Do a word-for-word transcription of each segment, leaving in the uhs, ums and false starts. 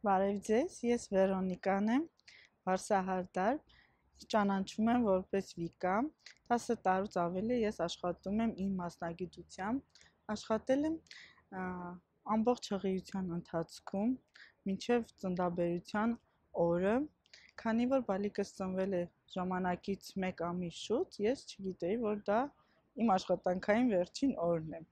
Բարև ձեզ, ես Վերոնիկան եմ, Վարսահարդար, ճանաչում եմ որպես Վիկա, տասը տարուց ավելի ես աշխատում եմ իմ մասնագիտությամբ, աշխատել եմ ամբողջ հղիության ընթացքում, մինչև ծննդաբերության օրը, քանի որ բալիկս ծնվել է ժամանակից մեկ ամիս շուտ, ես չգիտեի, որ դա իմ աշխատանքային վերջին օրն է,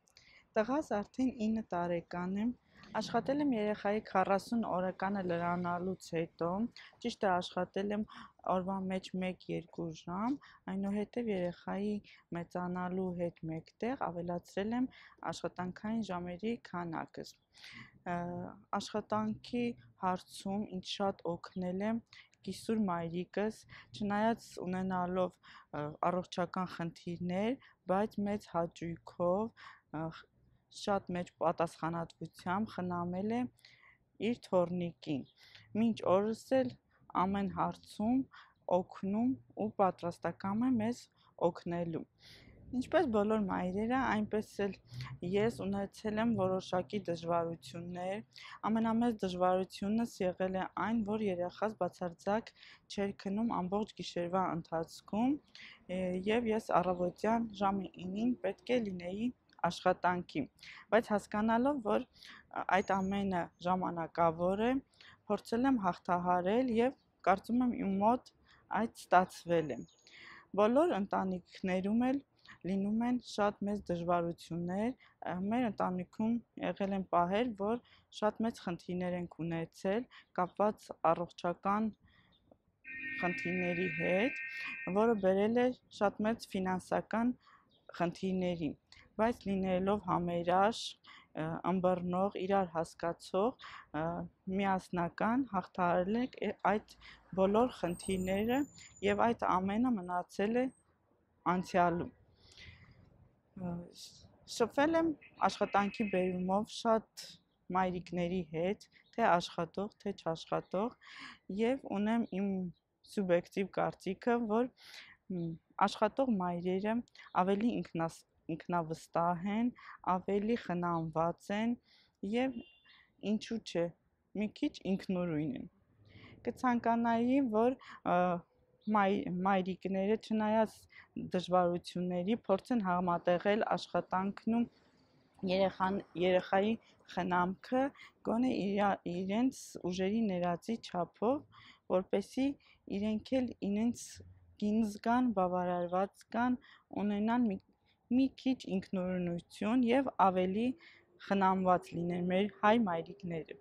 տղաս արդեն ինը տարեկան եմ, աշխատել եմ երեխայի քառասուն օրականը լրանալուց հետո, ճիշտ է աշխատել եմ օրվա մեջ մեկ-երկու ժամ, այնուհետև երեխայի մեծանալու հետ մեկտեղ ավելացրել եմ աշխատանքային ժամերի քանակս, աշխատանքի հարցում ինձ շատ օգնել է կիսուր մայրիկս, չնայած ունենալով առողջական խնդիրներ, բայց մեծ հաճույքով, շատ մեծ պատասխանատվությամբ խնամել է իր թոռնիկին, մինչ օրս էլ ամեն հարցում օգնում ու պատրաստակամ է մեզ օգնելու, ինչպես բոլոր մայրերը, այնպես էլ ես ունեցել եմ որոշակի դժվարություններ, ամենամեծ դժվարությունս եղել է այն, որ երեխաս բացարձակ չէր քնում ամբողջ գիշերվա ընթացքում և ես առավոտյան ժամը ինին պետք է լինեի աշխատանքի, բայց հասկանալով, որ այդ ամենը ժամանակավոր է, փորձել եմ հաղթահարել և կարծում եմ իմ մոտ այդ ստացվել է, բոլոր ընտանիքներում էլ լինում են շատ մեծ դժվարություններ, մեր ընտանիքում եղել են պահեր, որ շատ մեծ խնդիրներ ենք ունեցել կապված առողջական խնդիրների հետ, որը բերել է շատ մեծ ֆինանսական խնդիրների, բայց լինելով համերաշխ, ըմբռնող, իրար հասկացող, միասնական հաղթահարել ենք այդ բոլոր խնդիրները և այդ ամենը մնացել է անցյալում, շփվել եմ աշխատանքի բերումով շատ մայրիկների հետ, թե աշխատող, թե չաշխատող և ունեմ իմ սուբյեկտիվ կարծիքը, որ աշխատող մայրերը ավելի ինքնավստահ են, ավելի խնամված են և ինչու չէ, մի քիչ ինքնուրույն են, կցանկանայի, որ մայրիկները չնայած դժվարությունների փորձեն համատեղել աշխատանքն ու երեխայի խնամքը գոնե իրենց ուժերի ներածի չափով, որպեսզի իրենք էլ իրենց կին զգան, բավարարված զգան, ունենան մի քիչ ինքնուրույնություն և ավելի խնամված լինեն մեր հայ մայրիկները։